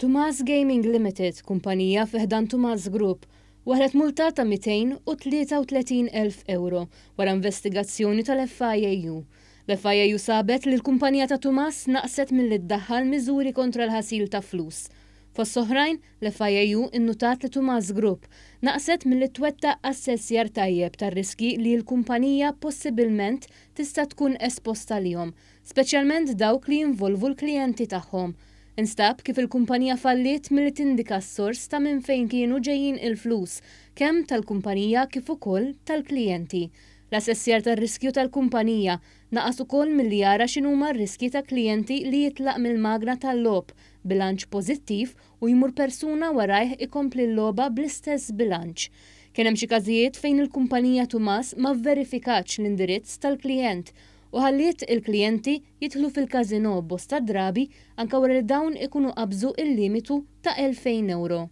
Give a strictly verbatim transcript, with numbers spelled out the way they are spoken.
Tumas Gaming Limited, kumpanija fi ħdan Tumas Group, waħlet multa ta' mitejn u tlieta u tletin elf euro wara investigazzjoni tal-F I A U. L-F I A U sabet li l-kumpanija ta' Tumas naqset milli ddaħħal miżuri kontra l-ħasil ta' flus. Fost oħrajn, l-F I A U innutat li Tumas Group naqset milli twettaq assessjar tajjeb tar-riski li l-kumpanija possibilment tista' tkun esposta lihom, speċjalment dawk li jinvolvu l-klijenti tagħhom. Instab kif il-kumpanija falliet milli tindika s-sors ta' minn fejn kienu ġejjin il-flus, kemm tal-kumpanija kif ukoll tal-klijenti. L-assessjar tar-riskju tal-kumpanija naqas ukoll milli jara x'inhuma r-riskji ta' klijenti li jitlaq mill-magna tal-logħob bilanċ pożittiv u jmur persuna warajh ikompli l-logħba bl-istess bilanċ. Kien hemm xi każijiet fejn il-kumpanija Tumas ma verifikatx l-indirizz tal-klijent u ħalliet il-klijenti jidħlu fil-kazino bosta drabi anka wara li dawn ikunu qabżu il-limitu ta' elfejn euro.